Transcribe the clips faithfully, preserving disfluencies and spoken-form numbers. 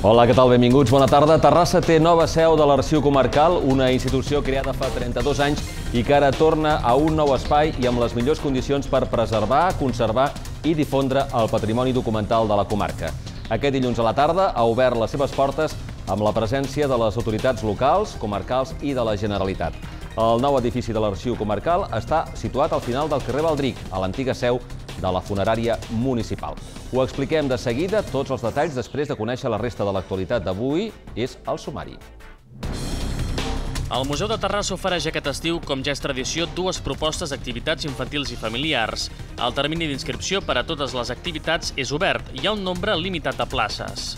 Hola, què tal? Benvinguts. Bona tarda. Terrassa té nova seu de l'Arxiu Comarcal, una institució creada fa trenta-dos anys i que ara torna a un nou espai i amb les millors condicions per preservar, conservar i difondre el patrimoni documental de la comarca. Aquest dilluns a la tarda ha obert les seves portes amb la presència de les autoritats locals, comarcals i de la Generalitat. El nou edifici de l'Arxiu Comarcal està situat al final del carrer Baldric, a l'antiga seu de la funerària municipal. Ho expliquem de seguida, tots els detalls, després de conèixer la resta de l'actualitat d'avui. És el sumari. El Museu de Terrassa ofereix aquest estiu, com ja és tradició, dues propostes d'activitats infantils i familiars. El termini d'inscripció per a totes les activitats és obert i hi ha un nombre limitat de places.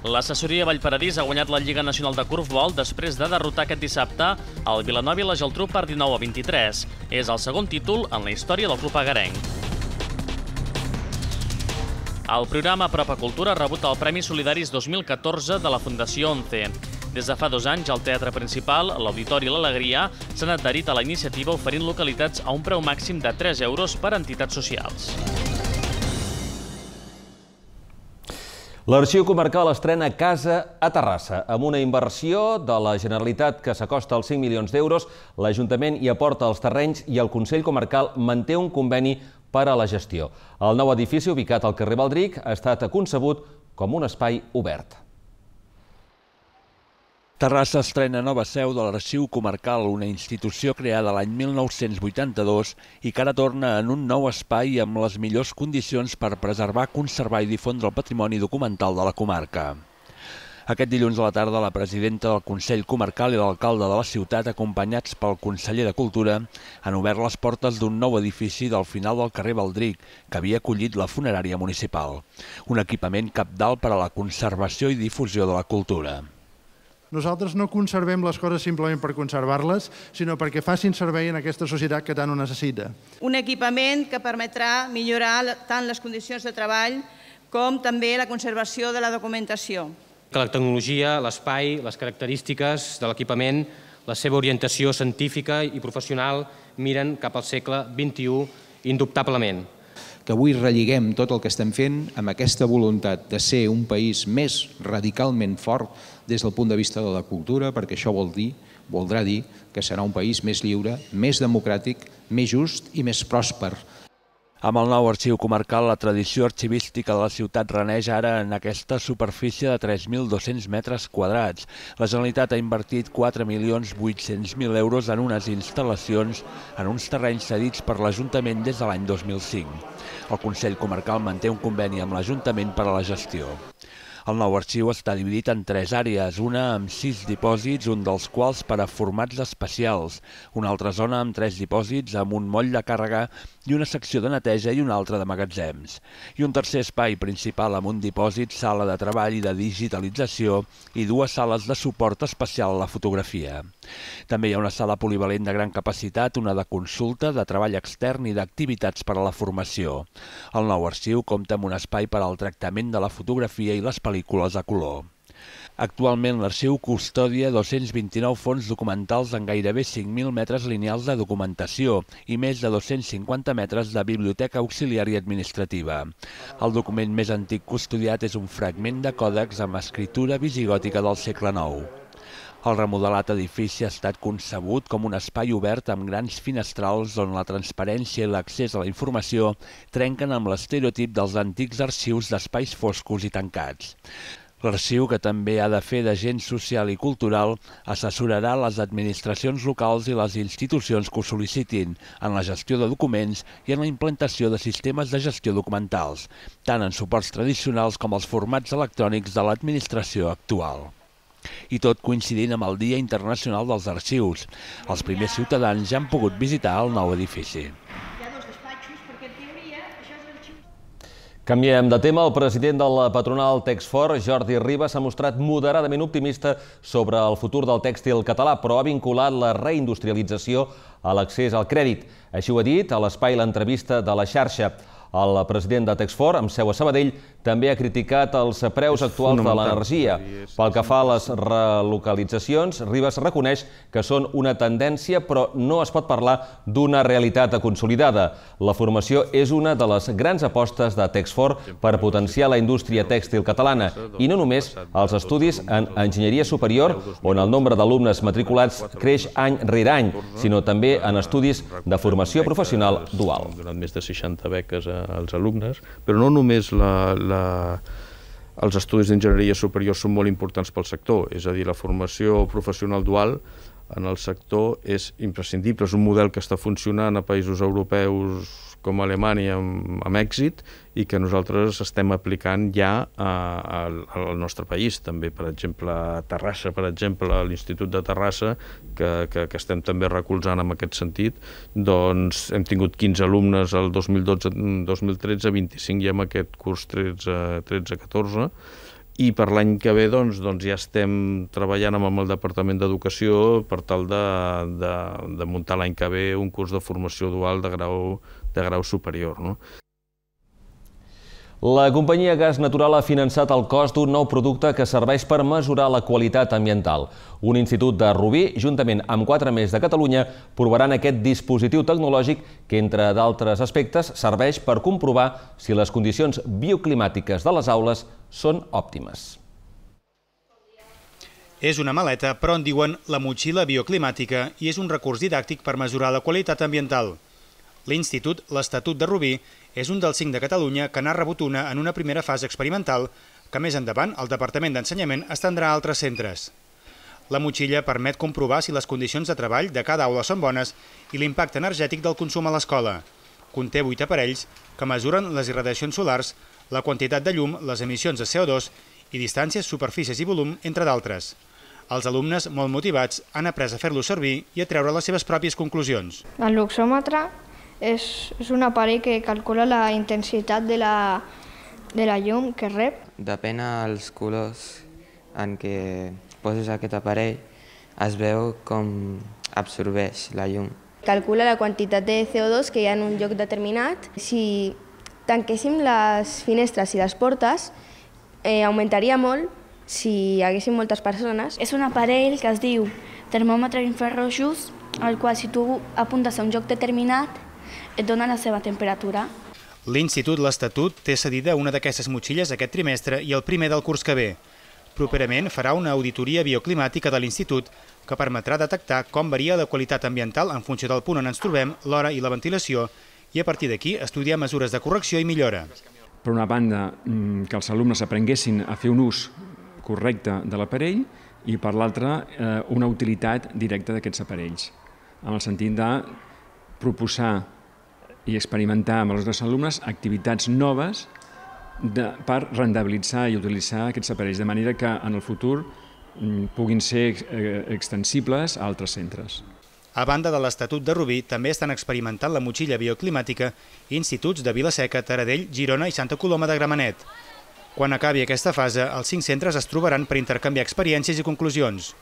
L'assessoria Vallparadís ha guanyat la Lliga Nacional de Corfbol després de derrotar aquest dissabte el Vilanova i la Geltrú per dinou a vint-i-tres. És el segon títol en la història del club agarenc. El programa Apropa Cultura ha rebut el Premi Solidaris dos mil catorze de la Fundació ONCE. Des de fa dos anys, el Teatre Principal, l'Auditori i l'Alegria s'han adherit a la iniciativa oferint localitats a un preu màxim de tres euros per a entitats socials. L'Arxiu Comarcal estrena casa a Terrassa. Amb una inversió de la Generalitat que s'acosta als cinc milions d'euros, l'Ajuntament hi aporta els terrenys i el Consell Comarcal manté un conveni per a la gestió. El nou edifici, ubicat al carrer Baldric, ha estat concebut com un espai obert. Terrassa estrena nova seu de l'Arxiu Comarcal, una institució creada l'any mil nou-cents vuitanta-dos i que ara torna en un nou espai amb les millors condicions per preservar, conservar i difondre el patrimoni documental de la comarca. Aquest dilluns a la tarda, la presidenta del Consell Comarcal i l'alcalde de la ciutat, acompanyats pel conseller de Cultura, han obert les portes d'un nou edifici del final del carrer Baldric, que havia acollit la funerària municipal. Un equipament cabdal per a la conservació i difusió de la cultura. Nosaltres no conservem les coses simplement per conservar-les, sinó perquè facin servei en aquesta societat que tant ho necessita. Un equipament que permetrà millorar tant les condicions de treball com també la conservació de la documentació. Que la tecnologia, l'espai, les característiques de l'equipament, la seva orientació científica i professional miren cap al segle vint-i-u indubtablement. Que avui relligem tot el que estem fent amb aquesta voluntat de ser un país més radicalment fort des del punt de vista de la cultura, perquè això vol dir, voldrà dir que serà un país més lliure, més democràtic, més just i més pròsper. Amb el nou Arxiu Comarcal, la tradició arxivística de la ciutat reneix ara en aquesta superfície de tres mil dos-cents metres quadrats. La Generalitat ha invertit quatre milions vuit-cents mil euros en unes instal·lacions en uns terrenys cedits per l'Ajuntament des de l'any dos mil cinc. El Consell Comarcal manté un conveni amb l'Ajuntament per a la gestió. El nou arxiu està dividit en tres àrees, una amb sis dipòsits, un dels quals per a formats especials, una altra zona amb tres dipòsits amb un moll de càrrega i una secció de neteja i una altra de magatzems, i un tercer espai principal amb un dipòsit, sala de treball i de digitalització i dues sales de suport especial a la fotografia. També hi ha una sala polivalent de gran capacitat, una de consulta, de treball extern i d'activitats per a la formació. El nou arxiu compta amb un espai per al tractament de la fotografia i les pel·lícules a color. Actualment l'arxiu custodia dos-cents vint-i-nou fons documentals en gairebé cinc mil metres lineals de documentació i més de dos-cents cinquanta metres de biblioteca auxiliar i administrativa. El document més antic custodiat és un fragment de còdex amb escriptura visigòtica del segle nou. El remodelat edifici ha estat concebut com un espai obert amb grans finestrals on la transparència i l'accés a la informació trenquen amb l'estereotip dels antics arxius d'espais foscos i tancats. L'arxiu, que també ha de fer d'agent social i cultural, assessorarà les administracions locals i les institucions que ho sol·licitin en la gestió de documents i en la implantació de sistemes de gestió documentals, tant en suports tradicionals com els formats electrònics de l'administració actual. I tot coincidint amb el Dia Internacional dels Arxius. Els primers ciutadans ja han pogut visitar el nou edifici. Canviem de tema. El president de la patronal Texfor, Jordi Ribas, s'ha mostrat moderadament optimista sobre el futur del tèxtil català, però ha vinculat la reindustrialització a l'accés al crèdit. Així ho ha dit a l'espai L'Entrevista de la xarxa. El president de Texfor, amb seu a Sabadell, també ha criticat els preus actuals de l'energia. Pel que fa a les relocalitzacions, Ribas reconeix que són una tendència, però no es pot parlar d'una realitat consolidada. La formació és una de les grans apostes de Texfor per potenciar la indústria tèxtil catalana, i no només els estudis en enginyeria superior, on el nombre d'alumnes matriculats creix any rere any, sinó també en estudis de formació professional dual. Hem donat més de seixanta beques als alumnes, però no només la, la, els estudis d'enginyeria superior són molt importants pel sector, és a dir, la formació professional dual en el sector és imprescindible, és un model que està funcionant a països europeus com Alemanya amb, amb èxit i que nosaltres estem aplicant ja a, a, al nostre país, també, per exemple, a Terrassa, per exemple, a l'Institut de Terrassa, que, que, que estem també recolzant en aquest sentit, doncs hem tingut quinze alumnes el dos mil dotze dos mil tretze, vint-i-cinc ja en aquest curs tretze catorze, i per l'any que ve doncs, doncs ja estem treballant amb el Departament d'Educació per tal de, de, de muntar l'any que ve un curs de formació dual de grau, de grau superior, no? La companyia Gas Natural ha finançat el cost d'un nou producte que serveix per mesurar la qualitat ambiental. Un institut de Rubí, juntament amb quatre més de Catalunya, provaran aquest dispositiu tecnològic que, entre d'altres aspectes, serveix per comprovar si les condicions bioclimàtiques de les aules són òptimes. És una maleta, però en diuen la motxilla bioclimàtica i és un recurs didàctic per mesurar la qualitat ambiental. L'Institut, l'Estatut de Rubí, és un dels cinc de Catalunya que n'ha rebut una en una primera fase experimental que més endavant el Departament d'Ensenyament estendrà a altres centres. La motxilla permet comprovar si les condicions de treball de cada aula són bones i l'impacte energètic del consum a l'escola. Conté vuit aparells que mesuren les irradiacions solars, la quantitat de llum, les emissions de C O dos i distàncies, superfícies i volum, entre d'altres. Els alumnes, molt motivats, han après a fer-lo servir i a treure les seves pròpies conclusions. El luxòmetre és, és un aparell que calcula la intensitat de la, de la llum que rep. Depèn dels colors en què poses aquest aparell, es veu com absorbeix la llum. Calcula la quantitat de C O dos que hi ha en un lloc determinat. Si tanquéssim les finestres i les portes, eh, augmentaria molt si hi haguessin moltes persones. És un aparell que es diu termòmetre infrarrojos, al qual si tu apuntes a un lloc determinat et dona la seva temperatura. L'Institut l'Estatut té cedida una d'aquestes motxilles aquest trimestre i el primer del curs que ve. Properament farà una auditoria bioclimàtica de l'Institut que permetrà detectar com varia la qualitat ambiental en funció del punt on ens trobem, l'hora i la ventilació, i a partir d'aquí estudiar mesures de correcció i millora. Per una banda, que els alumnes aprenguessin a fer un ús correcte de l'aparell i per l'altra, una utilitat directa d'aquests aparells, en el sentit de proposar i experimentar amb els nostres alumnes activitats noves de, per rendibilitzar i utilitzar aquests aparells, de manera que en el futur puguin ser extensibles a altres centres. A banda de l'Estatut de Rubí, també estan experimentant la motxilla bioclimàtica instituts de Vila-seca, Taradell, Girona i Santa Coloma de Gramenet. Quan acabi aquesta fase, els cinc centres es trobaran per intercanviar experiències i conclusions.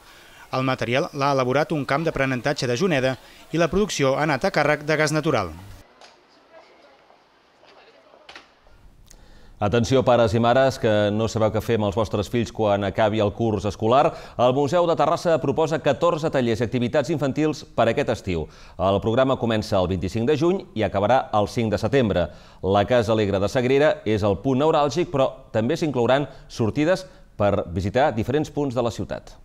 El material l'ha elaborat un camp d'aprenentatge de Juneda i la producció ha anat a càrrec de Gas Natural. Atenció, pares i mares, que no sabeu què fer amb els vostres fills quan acabi el curs escolar. El Museu de Terrassa proposa catorze tallers i activitats infantils per aquest estiu. El programa comença el vint-i-cinc de juny i acabarà el cinc de setembre. La Casa Alegre de Sagrera és el punt neuràlgic, però també s'inclouran sortides per visitar diferents punts de la ciutat.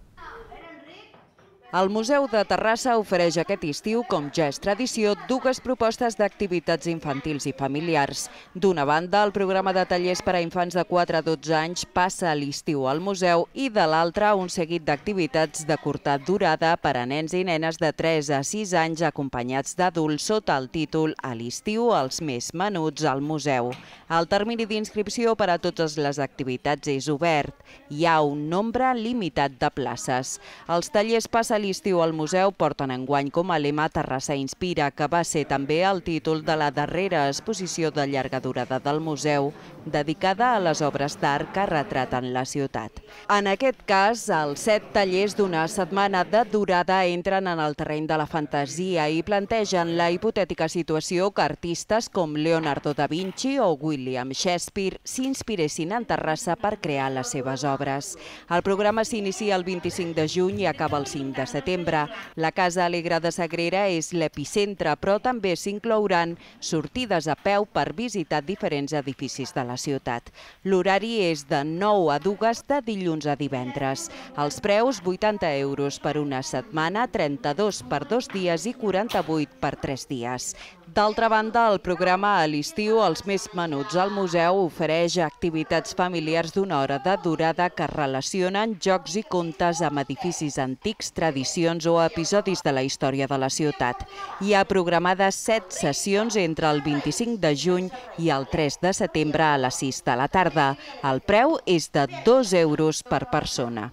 El Museu de Terrassa ofereix aquest estiu, com ja és tradició, dues propostes d'activitats infantils i familiars. D'una banda, el programa de tallers per a infants de quatre a dotze anys passa a l'estiu al museu i de l'altra, un seguit d'activitats de curta durada per a nens i nenes de tres a sis anys acompanyats d'adults sota el títol A l'estiu, els més menuts al museu. El termini d'inscripció per a totes les activitats és obert. Hi ha un nombre limitat de places. Els tallers passen de l'estiu al museu porten enguany com a lema Terrassa Inspira, que va ser també el títol de la darrera exposició de llarga durada del museu, dedicada a les obres d'art que retraten la ciutat. En aquest cas, els set tallers d'una setmana de durada entren en el terreny de la fantasia i plantegen la hipotètica situació que artistes com Leonardo da Vinci o William Shakespeare s'inspiressin en Terrassa per crear les seves obres. El programa s'inicia el vint-i-cinc de juny i acaba el cinc de setembre. La Casa Alegre de Sagrera és l'epicentre, però també s'inclouran sortides a peu per visitar diferents edificis de la ciutat. L'horari és de nou a dues de dilluns a divendres. Els preus, vuitanta euros per una setmana, trenta-dos per dos dies i quaranta-vuit per tres dies. D'altra banda, el programa a l'estiu, Els més menuts al museu, ofereix activitats familiars d'una hora de durada que relacionen jocs i contes amb edificis antics, tradicions o episodis de la història de la ciutat. Hi ha programades set sessions entre el vint-i-cinc de juny i el tres de setembre a les sis de la tarda. El preu és de dos euros per persona.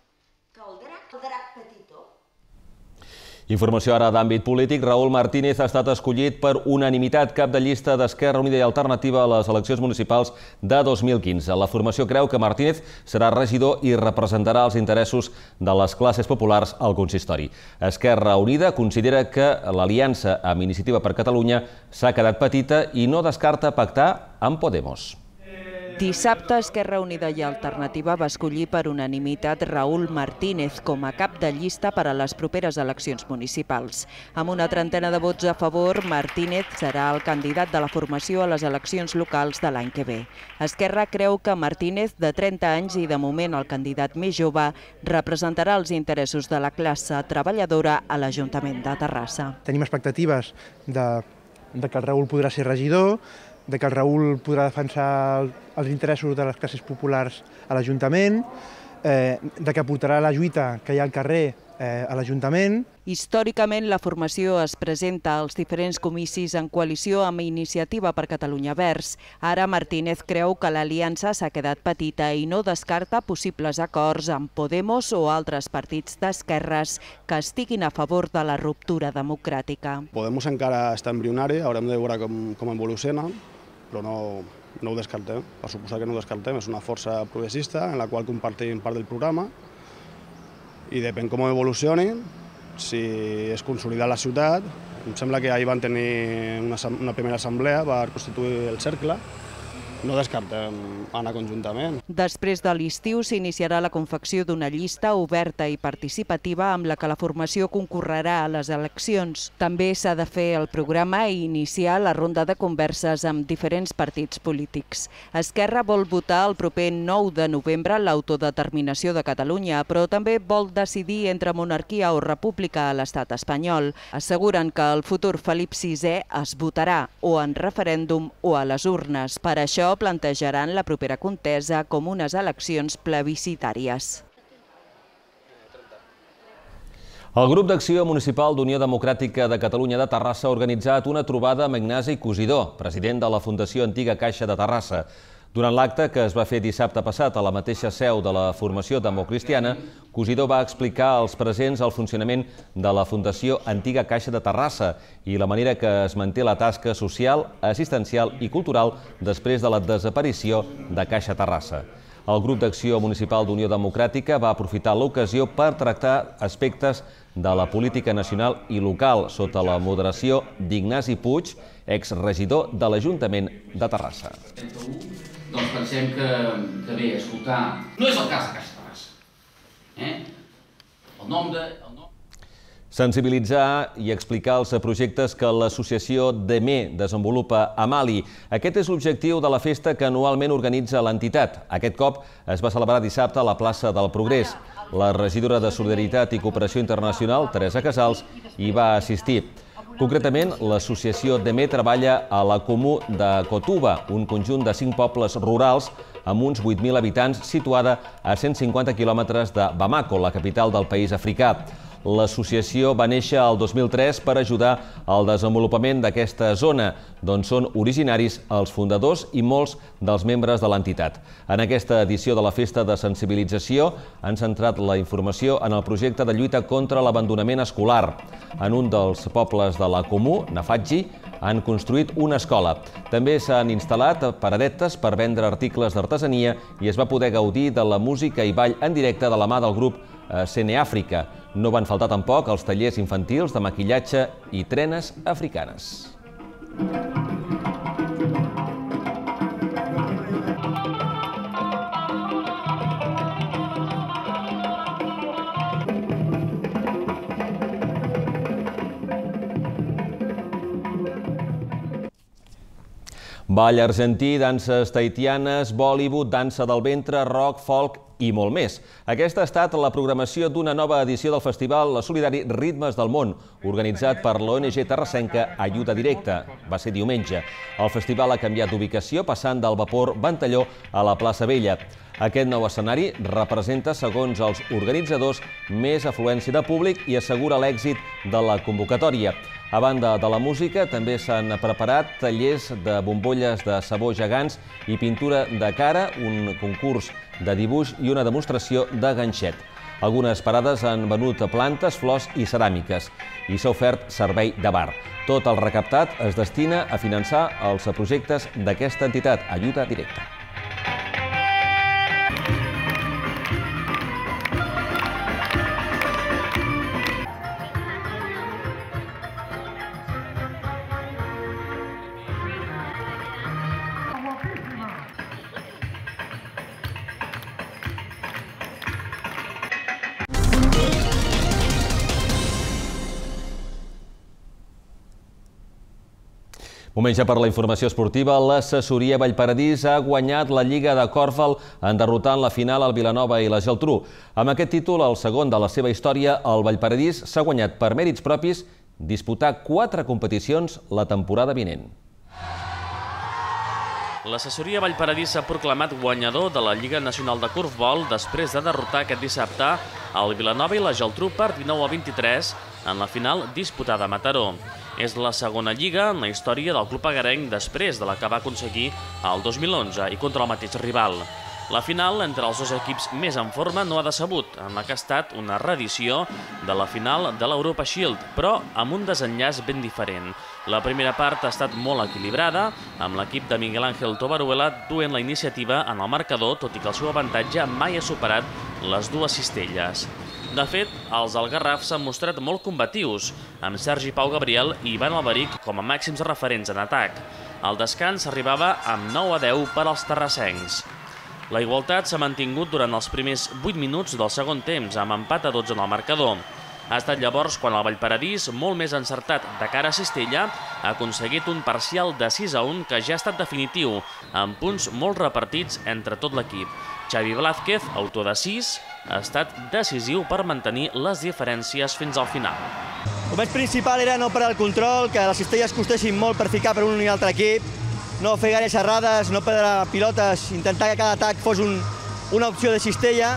Informació ara d'àmbit polític. Raúl Martínez ha estat escollit per unanimitat cap de llista d'Esquerra Unida i Alternativa a les eleccions municipals de dos mil quinze. La formació creu que Martínez serà regidor i representarà els interessos de les classes populars al consistori. Esquerra Unida considera que l'aliança amb Iniciativa per Catalunya s'ha quedat petita i no descarta pactar amb Podemos. Dissabte, Esquerra Unida i Alternativa va escollir per unanimitat Raúl Martínez com a cap de llista per a les properes eleccions municipals. Amb una trentena de vots a favor, Martínez serà el candidat de la formació a les eleccions locals de l'any que ve. Esquerra creu que Martínez, de trenta anys i de moment el candidat més jove, representarà els interessos de la classe treballadora a l'Ajuntament de Terrassa. Tenim expectatives de, de que el Raúl podrà ser regidor, de que el Raúl podrà defensar els interessos de les classes populars a l'Ajuntament, eh, de que portarà la lluita que hi ha al carrer eh, a l'Ajuntament. Històricament, la formació es presenta als diferents comicis en coalició amb Iniciativa per Catalunya Verds. Ara Martínez creu que l'aliança s'ha quedat petita i no descarta possibles acords amb Podemos o altres partits d'esquerres que estiguin a favor de la ruptura democràtica. Podemos encara està embrionari, haurem de veure com, com evoluciona, però no, no ho descartem. Per suposar que no ho descartem, és una força progressista en la qual compartim part del programa i depèn com evolucioni, si es consolida la ciutat. Em sembla que ahir van tenir una, una primera assemblea per constituir el cercle. No descartem anar conjuntament. Després de l'estiu s'iniciarà la confecció d'una llista oberta i participativa amb la que la formació concorrerà a les eleccions. També s'ha de fer el programa i iniciar la ronda de converses amb diferents partits polítics. Esquerra vol votar el proper nou de novembre l'autodeterminació de Catalunya, però també vol decidir entre monarquia o república a l'estat espanyol. Asseguren que el futur Felip sisè es votarà o en referèndum o a les urnes. Per això plantejaran la propera contesa com unes eleccions plebiscitàries. El grup d'acció municipal d'Unió Democràtica de Catalunya de Terrassa ha organitzat una trobada amb Ignasi Cosidó, president de la Fundació Antiga Caixa de Terrassa. Durant l'acte, que es va fer dissabte passat a la mateixa seu de la formació democristiana, Cosidó va explicar als presents el funcionament de la Fundació Antiga Caixa de Terrassa i la manera que es manté la tasca social, assistencial i cultural després de la desaparició de Caixa Terrassa. El grup d'acció municipal d'Unió Democràtica va aprofitar l'ocasió per tractar aspectes de la política nacional i local sota la moderació d'Ignasi Puig, exregidor de l'Ajuntament de Terrassa. Doncs pensem que, que bé, escoltar... No és el cas de Caixa Terrassa. Eh? El nom de... El nom... Sensibilitzar i explicar els projectes que l'associació D E M E desenvolupa a Mali. Aquest és l'objectiu de la festa que anualment organitza l'entitat. Aquest cop es va celebrar dissabte a la plaça del Progrés. La regidora de Solidaritat i Cooperació Internacional, Teresa Casals, hi va assistir. Concretament, l'associació D E M E treballa a la Comú de Kotuba, un conjunt de cinc pobles rurals amb uns vuit mil habitants situada a cent cinquanta quilòmetres de Bamako, la capital del país africà. L'associació va néixer el dos mil tres per ajudar al desenvolupament d'aquesta zona, d'on són originaris els fundadors i molts dels membres de l'entitat. En aquesta edició de la Festa de Sensibilització han centrat la informació en el projecte de lluita contra l'abandonament escolar. En un dels pobles de la Comú, Nafatgi, han construït una escola. També s'han instal·lat paradetes per vendre articles d'artesania i es va poder gaudir de la música i ball en directe de la mà del grup Seneàfrica. No van faltar tampoc els tallers infantils de maquillatge i trenes africanes. Ball argentí, danses tahitianes, Bollywood, dansa del ventre, rock, folk i molt més. Aquesta ha estat la programació d'una nova edició del festival solidari Ritmes del Món, organitzat per l'O N G terrassenca Ajuda Directa. Va ser diumenge. El festival ha canviat d'ubicació, passant del Vapor Ventalló a la plaça Vella. Aquest nou escenari representa, segons els organitzadors, més afluència de públic i assegura l'èxit de la convocatòria. A banda de la música, també s'han preparat tallers de bombolles de sabó gegants i pintura de cara, un concurs de dibuix i una demostració de ganxet. Algunes parades han venut plantes, flors i ceràmiques i s'ha ofert servei de bar. Tot el recaptat es destina a finançar els projectes d'aquesta entitat, Ajuda Directa. Moment ja per la informació esportiva. L'assessoria Vallparadís ha guanyat la Lliga de Corfball en derrotant la final al Vilanova i la Geltrú. Amb aquest títol, el segon de la seva història, el Vallparadís s'ha guanyat per mèrits propis disputar quatre competicions la temporada vinent. L'assessoria Vallparadís s'ha proclamat guanyador de la Lliga Nacional de Corfball després de derrotar aquest dissabte el Vilanova i la Geltrú per dinou a vint-i-tres en la final disputada a Mataró. És la segona lliga en la història del club agarenc després de la que va aconseguir el dos mil onze i contra el mateix rival. La final entre els dos equips més en forma no ha decebut, en la que ha estat una reedició de la final de l'Europa Shield, però amb un desenllaç ben diferent. La primera part ha estat molt equilibrada, amb l'equip de Miguel Ángel Tobaruela duent la iniciativa en el marcador, tot i que el seu avantatge mai ha superat les dues cistelles. De fet, els algarrafs s'han mostrat molt combatius, amb Sergi Pau Gabriel i Ivan Alberic com a màxims referents en atac. El descans arribava amb nou a deu per als terrassencs. La igualtat s'ha mantingut durant els primers vuit minuts del segon temps, amb empat a dotze en el marcador. Ha estat llavors quan el Vallparadís, molt més encertat de cara a cistella, ha aconseguit un parcial de sis a un que ja ha estat definitiu, amb punts molt repartits entre tot l'equip. Xavi Blázquez, autor de sis, ha estat decisiu per mantenir les diferències fins al final. El més principal era no parar el control, que les cistelles costessin molt per ficar per un i altre equip, no fer gaires errades, no perdre pilotes, intentar que cada atac fos un, una opció de cistella,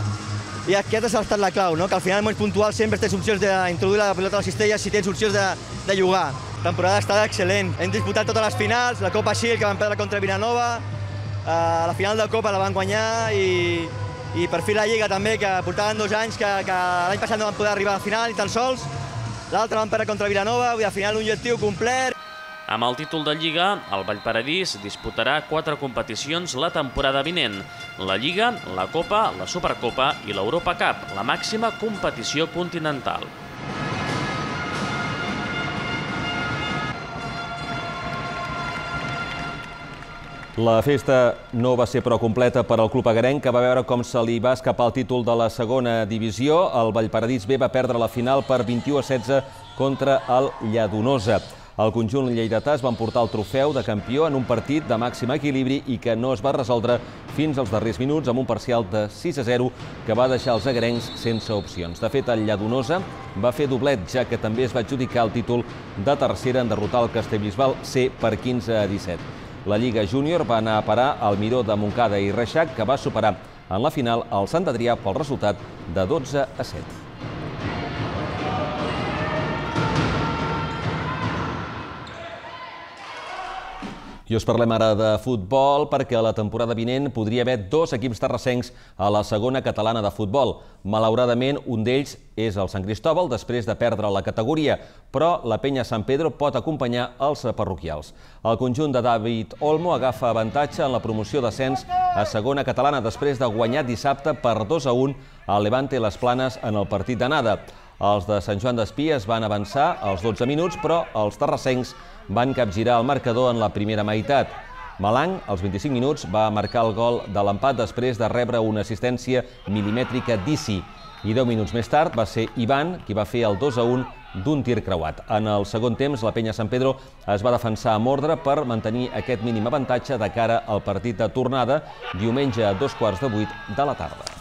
i aquesta ha estat la clau, no? Que al final en moments puntuals sempre tens opcions d'introduir la pilota a la cistella si tens opcions de, de jugar. La temporada ha estat excel·lent. Hem disputat totes les finals, la Copa Shield que vam perdre contra Vilanova, eh, la final de Copa la van guanyar i, i per fi la Lliga també, que portaven dos anys, que, que l'any passat no van poder arribar a la final ni tan sols. L'altra van perdre contra Vilanova, vull dir, al final un objectiu complet. Amb el títol de Lliga, el Vallparadís disputarà quatre competicions la temporada vinent. La Lliga, la Copa, la Supercopa i l'Europa Cup, la màxima competició continental. La festa no va ser prou completa per al club agarenc, que va veure com se li va escapar el títol de la segona divisió. El Vallparadís B va perdre la final per vint-i-u a setze contra el Lladonosa. El conjunt lleidatà es va emportar el trofeu de campió en un partit de màxim equilibri i que no es va resoldre fins als darrers minuts amb un parcial de sis a zero que va deixar els agarencs sense opcions. De fet, el Lladonosa va fer doblet, ja que també es va adjudicar el títol de tercera en derrotar el Castellbisbal C per quinze a disset. La Lliga Júnior va anar a parar al Miró de Montcada i Reixac, que va superar en la final el Sant Adrià pel resultat de dotze a set. I us parlem ara de futbol perquè a la temporada vinent podria haver dos equips terrassencs a la segona catalana de futbol. Malauradament, un d'ells és el Sant Cristòbal després de perdre la categoria, però la Penya Sant Pedro pot acompanyar els parroquials. El conjunt de David Olmo agafa avantatge en la promoció d'ascens a segona catalana després de guanyar dissabte per dos a un al Levante Les Planes en el partit d'anada. Els de Sant Joan d'Espí es van avançar als dotze minuts, però els terrassencs van capgirar el marcador en la primera meitat. Malang, als vint-i-cinc minuts, va marcar el gol de l'empat després de rebre una assistència milimètrica d'Isi. I deu minuts més tard va ser Ivan qui va fer el dos a un d'un tir creuat. En el segon temps, la Penya Sant Pedro es va defensar amb ordre per mantenir aquest mínim avantatge de cara al partit de tornada, diumenge a dos quarts de vuit de la tarda.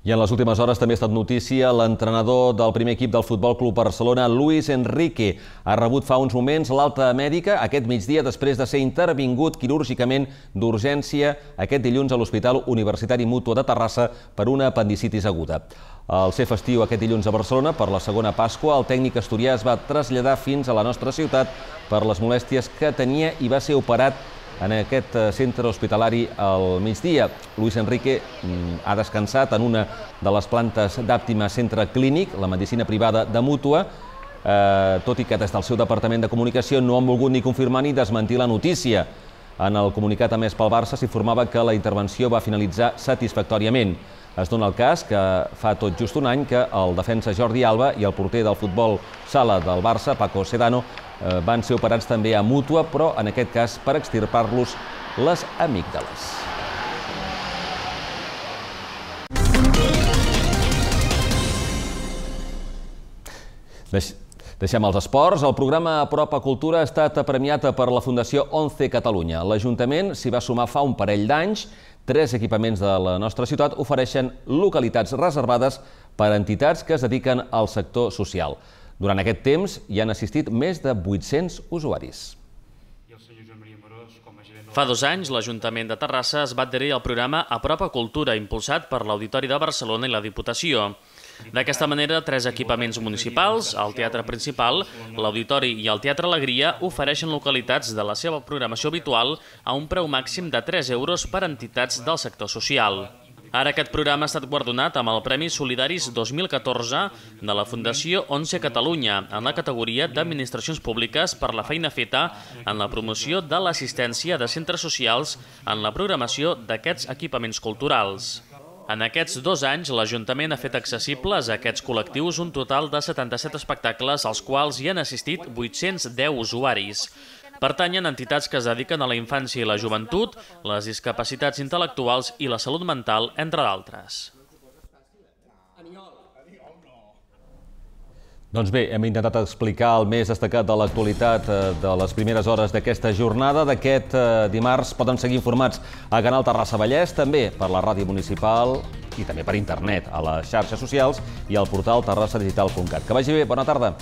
I en les últimes hores també ha estat notícia l'entrenador del primer equip del Futbol Club Barcelona, Luis Enrique. Ha rebut fa uns moments l'alta mèdica aquest migdia després de ser intervingut quirúrgicament d'urgència aquest dilluns a l'Hospital Universitari Mútua de Terrassa per una apendicitis aguda. Al ser festiu aquest dilluns a Barcelona per la segona Pasqua, el tècnic asturià es va traslladar fins a la nostra ciutat per les molèsties que tenia i va ser operat en aquest centre hospitalari al migdia. Luis Enrique ha descansat en una de les plantes d'Àptima Centre Clínic, la medicina privada de Mútua, tot i que des del seu departament de comunicació no han volgut ni confirmar ni desmentir la notícia. En el comunicat emès pel Barça s'informava que la intervenció va finalitzar satisfactòriament. Es dona el cas que fa tot just un any que el defensa Jordi Alba i el porter del futbol sala del Barça, Paco Sedano, van ser operats també a Mútua, però en aquest cas per extirpar-los les amígdales. Deixem els esports. El programa Apropa Cultura ha estat premiat per la Fundació Once Catalunya. L'Ajuntament s'hi va sumar fa un parell d'anys. Tres equipaments de la nostra ciutat ofereixen localitats reservades per a entitats que es dediquen al sector social. Durant aquest temps hi han assistit més de vuit-cents usuaris. Fa dos anys, l'Ajuntament de Terrassa es va adherir al programa Apropa Cultura, impulsat per l'Auditori de Barcelona i la Diputació. D'aquesta manera, tres equipaments municipals, el Teatre Principal, l'Auditori i el Teatre Alegria, ofereixen localitats de la seva programació habitual a un preu màxim de tres euros per a entitats del sector social. Ara aquest programa ha estat guardonat amb el Premi Solidaris dos mil catorze de la Fundació Once Catalunya en la categoria d'Administracions Públiques per la feina feta en la promoció de l'assistència de centres socials en la programació d'aquests equipaments culturals. En aquests dos anys, l'Ajuntament ha fet accessibles a aquests col·lectius un total de setanta-set espectacles als quals hi han assistit vuit-cents deu usuaris. Pertanyen a entitats que es dediquen a la infància i la joventut, les discapacitats intel·lectuals i la salut mental, entre d'altres. Doncs bé, hem intentat explicar el més destacat de l'actualitat de les primeres hores d'aquesta jornada. D'aquest dimarts poden seguir informats a Canal Terrassa Vallès, també per la ràdio municipal i també per internet, a les xarxes socials i al portal terrassa digital punt cat. Que vagi bé, bona tarda.